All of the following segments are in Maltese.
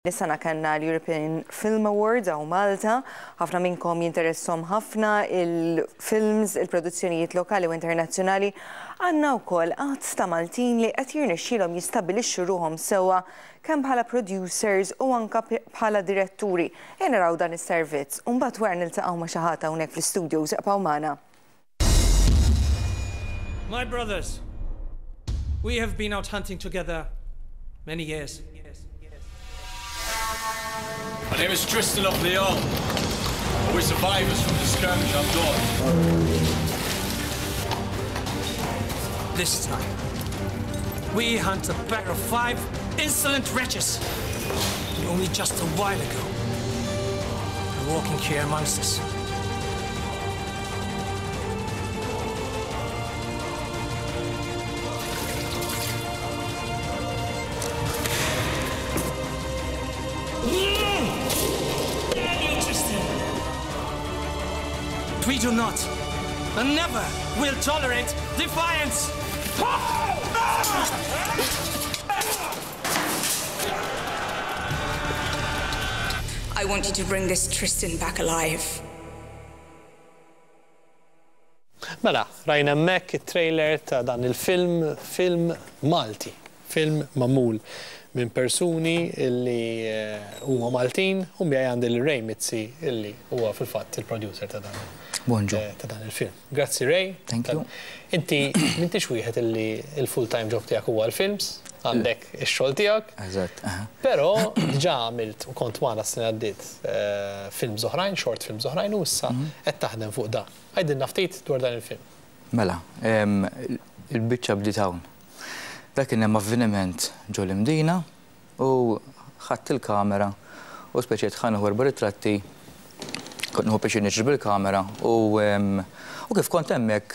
Dis-sena kellna l-European Film Awards hawn Malta. Ħafna minnkom jinteresshom ħafna il-films, il-produzzjonijiet lokali u internazzjonali. Għandna wkoll għadd ta' Maltin li qed jirnexxielhom jistabbilixxu ruħhom sewwa kemm bħala producers u anke bħala diretturi. Ejja naraw dan is-servizz u mbagħad wara niltaqgħu ma' xi ħadd hawnhekk fl-istudios. Ibqgħu magħna. My brothers, we have been out hunting together many years. My name is Tristan of Leon. We're survivors from the skirmish up north. This time, we hunt a pack of five insolent wretches. Only just a while ago, were walking here amongst us. We do not and never will tolerate defiance. I want you to bring this Tristan back alive. Mela, rajna hemmhekk it-trailer ta' dan il-film, film Malti, film magħmul minn persuni li huma Maltin u miegħi għandi lil Ray Mizzi illi huwa fil-fatt il-producer ta' dan Bonġu. ta' dan il-film. Grazzi Ray. Thank you. Inti m'intix wieħed illi l-full time job tiegħek huwa l-films, għandek ix-xogħol tiegħek. Eżatt. Però diġà għamilt u kont magħna s-sena għaddiet films oħrajn, short films oħrajn u issa qed taħdem fuq dan. Għidilna ftit dwar dan il-film. Mela, il-biċċa bdiet hawn. Dak kien hemm avveniment ġo l-Imdina u ħadt il-kamera u speċi ħa nieħu erba' ritratti, kont nieħu pjaċir niġri bil-kamera u u kif kont hemmhekk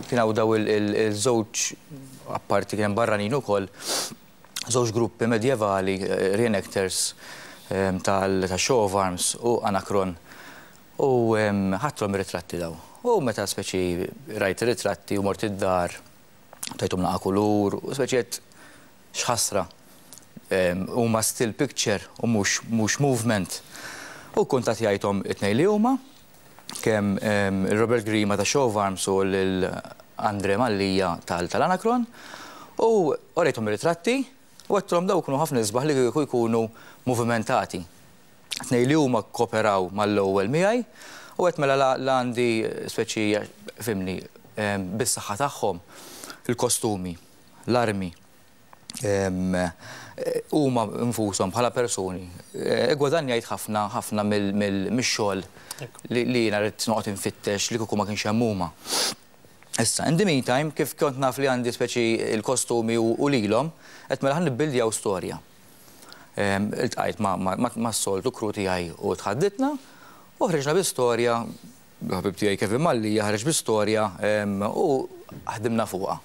kien hawn daw il-żewġ apparti kien hemm barranin ukoll, żewġ gruppi medjevali, reenactors tal-Show of Arms u Anacron u ħadthom ir-ritratti daw. U meta speċi rajt ir-ritratti u mort id-dar tajthom naqa' kulur u speċi għedt x'ħasra huma still picture u mhux mhux movement. U kkuntattjajthom it-tnejn li huma, kemm Robert Grima ta' Show of Arms u lil Andre Mallia tal-Anacron u urejthom ir-ritratti u għedtilhom dawn ikunu ħafna isbaħ li kieku jkunu movimentati. Tnejn li huma kkooperaw mal-ewwel miegħi u għedt mela la għandi speċi fhimni bis-saħħa tagħhom il-kostumi, l-armi, huma nfushom bħala persuni iggwadanjajt ħafna ħafna mix-xogħol li jiena ridt noqgħod infittex li kieku ma kienx hemm huma. Issa, in the meantime, kif kont naf li għandi speċi l-kostumi u lilhom, għedt mela ħa nibbildjaw storja. Iltqajt mas-soltu crew tiegħi u tħadditna u ħriġna bi storja, il-ħabib tiegħi Kevin Mallia ħareġ bi storja u ħdimna fuqha.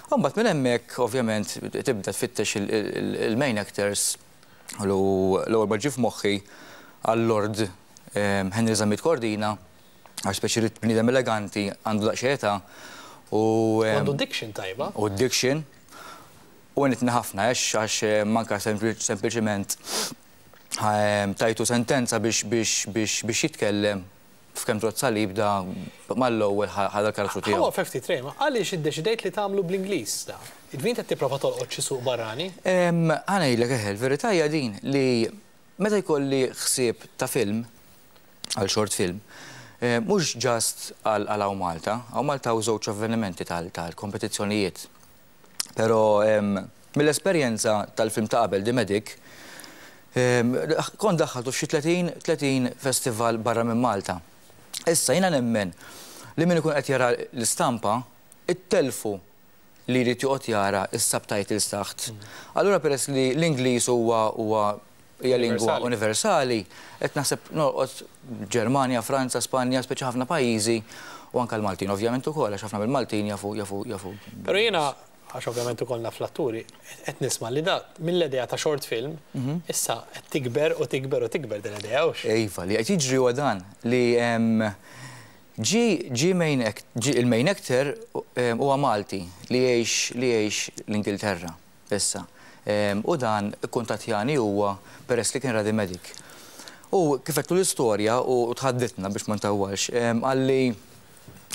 U mbagħad minn hemmhekk ovvjament tibda tfittex il-main actors u l-ewwel ma ġie f'moħħi għal-Lord Henry Zammit Cordina għax speċi ridt bniedem eleganti għandu daqsxejn età u Għandu diction tajba. U diction. U għenitni ħafna għax għax manka sempliċiment tajtu sentenza biex biex biex biex jitkellem f'kemm trott salib da mal-ewwel ħa dal-karattru tiegħu. Ħa waqfek ftit Ray, ma għaliex iddeċidejt li tagħmlu bl-Ingliż da? Jiġifieri int qed tipprova tolqot xi suq barrani? Ħa ngħidlek eħe, il-verità hija din li meta jkolli ħsieb ta' film, għal short film, mhux just għal hawn Malta, hawn Malta hawn żewġ avvenimenti tal-kompetizzjonijiet. Però mill-esperjenza tal-film ta' qabel, The Medic, kont daħħaltu f'xi 30, 30 festival barra minn Malta. Issa jiena nemmen li min ikun qed jara l-istampa, ittellfu li jrid joqgħod jara s-subtitles taħt. Allura peress li l-Ingliż huwa huwa hija lingwa universali, qed naħseb nolqot Ġermanja, Franza, Spanja, speċi ħafna pajjiżi u anke l-Maltin ovvjament ukoll għax ħafna mill-Maltin jafu jafu jafu. Però jiena, għax ovvjament ukoll naf l-atturi, qed nisma' li da mill-idea ta' short film issa qed tikber u tikber u tikber din l-idea, hux? Iva, li qed jiġri huwa dan li ġie ġie main act ġie il-main actor huwa Malti li jgħix li jgħix l-Ingilterra issa. U dan ikkuntattjani huwa peress li kien ra The Medic. U kif għedtlu l-istorja u tħadditna biex ma ntawwalx, qalli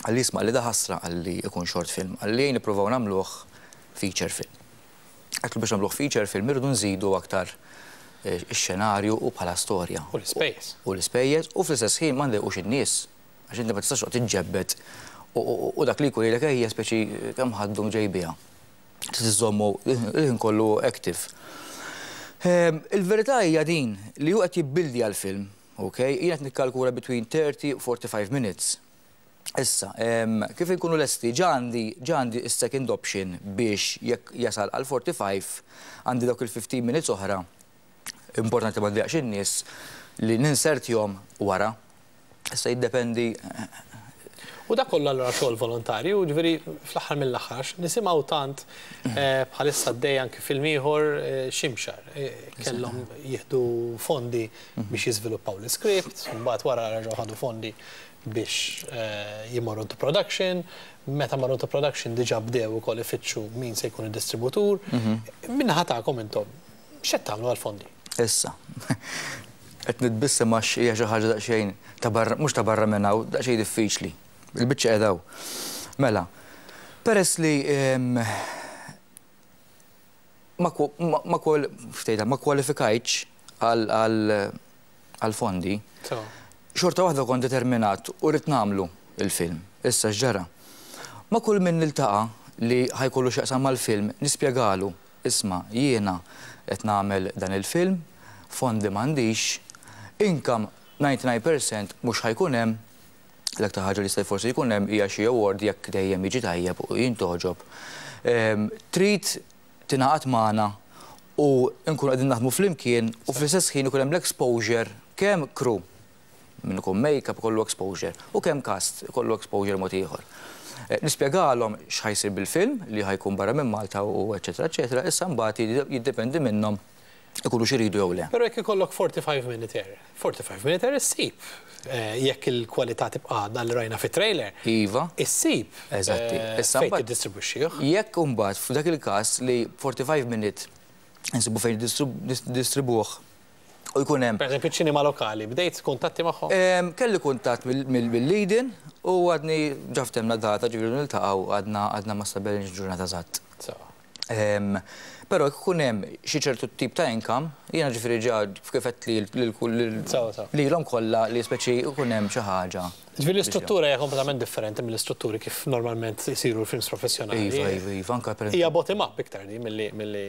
qalli isma' qalli da ħasra qalli ikun short film, qalli ejja nippruvaw nagħmluh feature film. Għedtlu biex nagħmluh feature film irridu nżidu aktar ix-xenarju u bħala storja. U l-ispejjeż. U l-ispejjeż u fl-istess ħin ma ndejqux in-nies. Għax inti ma tistax toqgħod tiġġebbed u dak li jkun jgħidlek ejja speċi kemm ħaddum ġej biha. Trid iżżommu il-ħin kollu active. Il-verità hija din li hu qed jibbildja l-film, ok? Jien qed nikkalkula between 30 u 45 minutes. Issa, kif inkunu lesti, ġa għandi ġa għandi s-second option biex jekk jasal għal 45 għandi dawk il-15 minutes oħra, importanti ma ndejjaqx in-nies, li ninsertihom wara. Issa jiddependi. U dak kollu allura xogħol volontarju, jiġifieri fl-aħħar mill-aħħar għax nisimgħu tant bħalissa għaddej anki film ieħor Ximxar. Kellhom jieħdu fondi biex jiżviluppaw l-iskript, mbagħad wara reġgħu ħadu fondi biex jmorru into production. Meta marru into production diġà bdew ukoll ifittxu min se jkun id-distributur. Min-naħa tagħkom intom, x'qed tagħmlu għall-fondi? Issa, qed nitbissem għax hija xi ħaġa daqsxejn ta' barra, mhux ta' barra minn hawn, daqsxejn diffiċli. Il-biċċa qiegħda hawn. Mela, peress li ma ma ma kwalifikajtx għall-fondi, xorta waħda kont determinat u ridt nagħmlu il-film. Issa x'ġara? Ma' kull min niltaqa' li ħa jkollu x'jaqsam mal-film nispjegalu Isma', jiena qed nagħmel dan il-film, fondi m'għandix, income 99% mhux ħa jkun hemm, l-aktar ħaġa li jista' forsi jkun hemm hija xi award jekk dejjem jiġi tajjeb u jintgħoġob. Trid tingħaqad magħna u nkunu qegħdin naħdmu flimkien u fl-istess ħin ikun hemm l-exposure kemm crew Min ikun make-up ikollu exposure u kemm cast ikollu exposure mod ieħor. Nispjegalhom x'ħa jsir bil-film, li ħa jkun barra minn Malta u eċċetera eċċetera, issa mbagħad jiddependi minnhom ikunux iridu jew le. Però jekk ikollok 45 minute, 45 minute issib jekk il-kwalità tibqa' għadha li rajna fit-trailer. Iva. Issib fejn tiddistribwixxih. Jekk imbagħad f'dak il-każ li 45 minute insibu fejn niddistribwuh u jkun hemm. Pereżempju ċ-ċinema lokali, bdejt kuntatti magħhom? Kelli kuntatt mill-Leiden u għadni ġa ftehmna data, ġifieri niltaqgħu għadna għadna ma stabbilejniex ġurnata eżatt. Sewa. Però jekk ikun hemm xi ċertu tip ta' income, jiena ġifieri ġa kif għedt lil lilhom kollha li speċi jkun hemm xi ħaġa. Ġifieri l-istruttura hija kompletament differenti mill-istrutturi kif normalment isiru l-films professjonali. Iva, iva, iva, anke per. Hija bottom up iktar din milli milli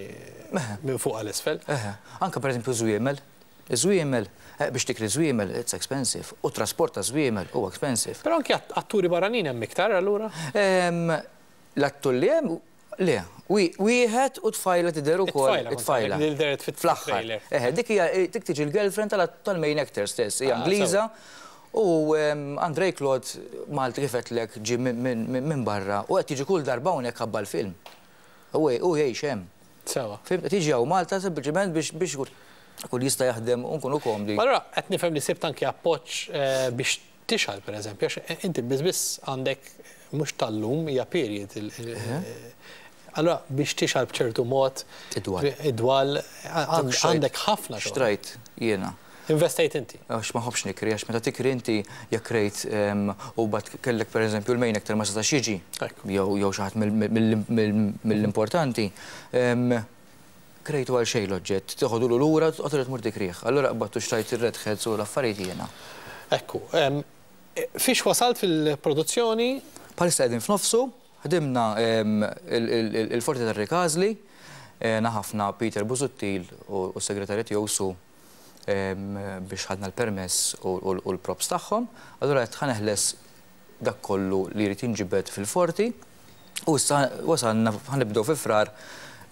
minn fuq għal isfel. Eħe, anke pereżempju żwiemel. Iż-żwiemel, biex tikri żwiemel it's expensive u t-trasport ta' żwiemel huwa expensive. Però anke atturi barranin hemm iktar allura? L-attur li hemm Le, wieħed u tfajla tidher ukoll. It-tfajla, li dehret fit-trailer. Eħe, dik hija dik tiġi l-girlfriend tal-main actor stess, hija Ingliża u Andrei Claude Malti kif għedtlek ġie minn barra u qed jiġi kull darba hawnhekk ħabba l-film. Hu jgħix hemm. Sewa. Fhimt, qed jiġi hawn Malta sempliċement biex ikun jista' jaħdem u nkunu komdi. Allura qed nifhem li sibt anki appoġġ biex Tixgħal pereżempju, għax inti biss biss għandek mhux tal-lum hija period. Allura biex tixgħal b'ċertu mod. Id-dwal. Id-dwal għandek ħafna xogħol. Xtrajt jiena. Investejt inti. Għax ma nħobbx nikri, għax meta tikri inti jekk krejt u mbagħad kellek pereżempju l-main actor ma setax jiġi. Jew xi ħadd mill-importanti. Krejtu għal xejn l-oġġett, teħodulu lura u terġa' tmur tikrih. Allura qbadt u xtrajt ir-red heads u l-affarijiet jiena. Ekku. Fiex wasalt fil-produzzjoni? Bħalissa qegħdin f'nofsu, ħdimna il-Forti tar-Rikażli, għena ħafna Peter Busuttil u s-segretarja tiegħu Sue biex ħadna l-permess u l-props tagħhom. Allura għedt ħa neħles dak kollu li jrid jinġibed fil-forti u issa wasalna ħa nibdew fi Frar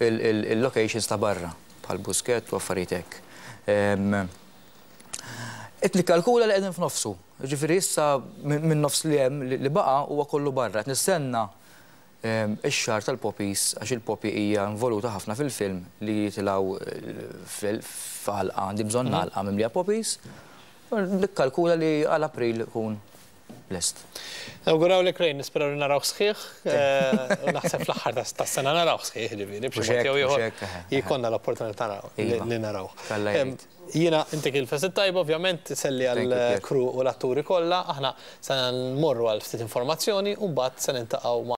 il-locations ta' barra bħal Buskett u affarijiet hekk. Qed nikkalkula li qegħdin f'nofsu, jiġifieri issa min-nofs li hemm li baqa' huwa kollu barra. Qed nistenna ix-xahar tal-poppies għax il-poppy hija involuta ħafna fil-film li jitilgħu f'għalqa, għandi bżonn għalqa mimlija poppies. Nikkalkula li għal April ikun. lest. Nawgurawlek Ray, nisperaw li narawh sħiħ, naħseb fl-aħħar tas-sena narawh sħiħ, ġifieri, b'xi mod jew ieħor jkollna l-opportunità li narawh. Jiena intik il-festi tajba, ovvjament, selli għall-crew u l-atturi kollha, aħna se nmorru għal ftit informazzjoni u mbagħad se niltaqgħu ma'